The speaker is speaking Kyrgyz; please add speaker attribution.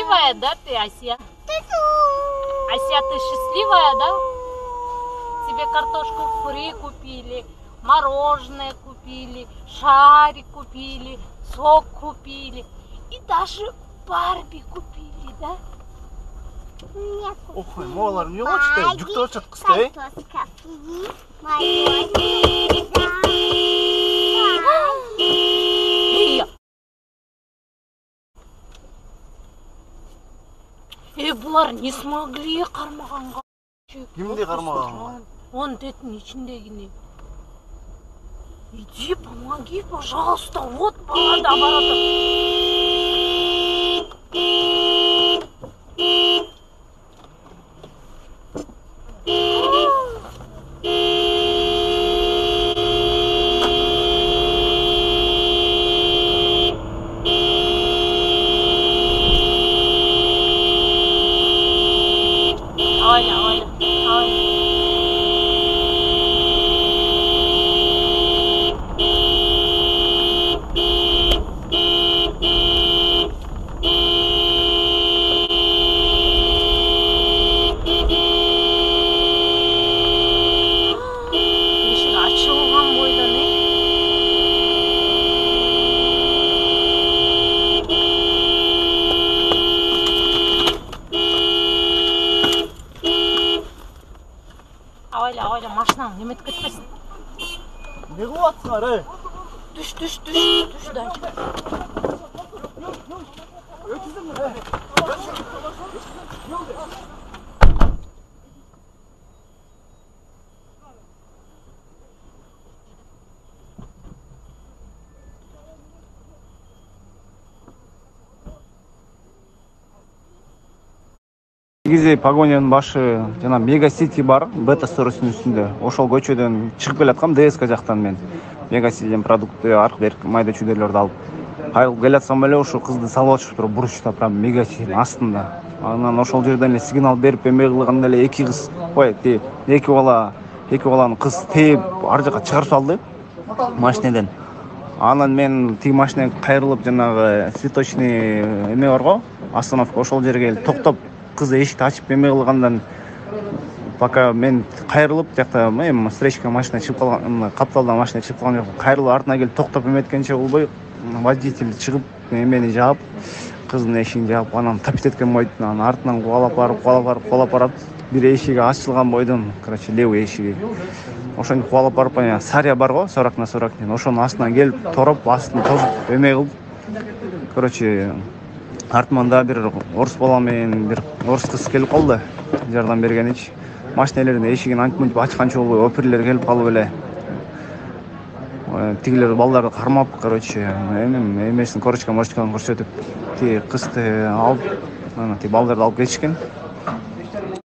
Speaker 1: счастливая, да, ты, Ася? Ася, ты счастливая, да? Тебе картошку фри купили, мороженое купили, шарик купили, сок купили и даже Барби купили, да?
Speaker 2: Ох, молар не лучше, жүктеп атат кызды.
Speaker 1: Булар не смогли кармаганга.
Speaker 2: Кимди кармаган?
Speaker 1: Он деттин ичиндегини. Иди, помоги, пожалуйста. Вот бала да бар Ойла, машинаң неметип кетпесин.
Speaker 2: Не кылып атсыңар,
Speaker 1: Түш, дай.
Speaker 3: Негизи погонянын башы жана Мега Сити бар, Бета сторосунун үстүндө. Ошол көчөдөн чыгып келаткам ДСК жактан мен. Мега Ситиден продукты, арк берк майда чүйдөлөрдү алып. Кайрылып келатсам эле ошо кызды салып атышыптыр бурчта, прям Мега Ситинин астында. Анан ошол жерден эле сигнал берип эме кылганда эле эки кыз, эки баланы кыз тээп ар жака чыгарып салды машинеден. Анан мен тиги машинеге кайрылып жанагы цветочный эме барго, остановка, ошол жерге келип токтоп кызы эшикти ачып эме кылгандан пока мен кайрылып жакта встречка машина чыгып калган, капталдан машина чыгып калган жок. Кайрылып артына келип токтоп эметкенче болбой водитель чыгып эмени жаап, кыздын эшигин жаап, анан тапит эткен бойдон анан артынан кубалап барып, бир эшиги ачылган бойдон, короче, левый эшиги. Ошентип кубалап барып, Сария бар го, 40/40, ошонун астынан келип тороп, астын тосуп эме кылып, короче, артыман да бир орус бала менен бир орус кыз келип калды, жардам бергенич. Машинелердин эшигин антип ачканчы болбой, оперлер келип калып эле. Тигилер балдарды кармап, короче, эмесин корочканы көрсөтүп, тиги кызды алып, тиги балдарды алып кетишкен.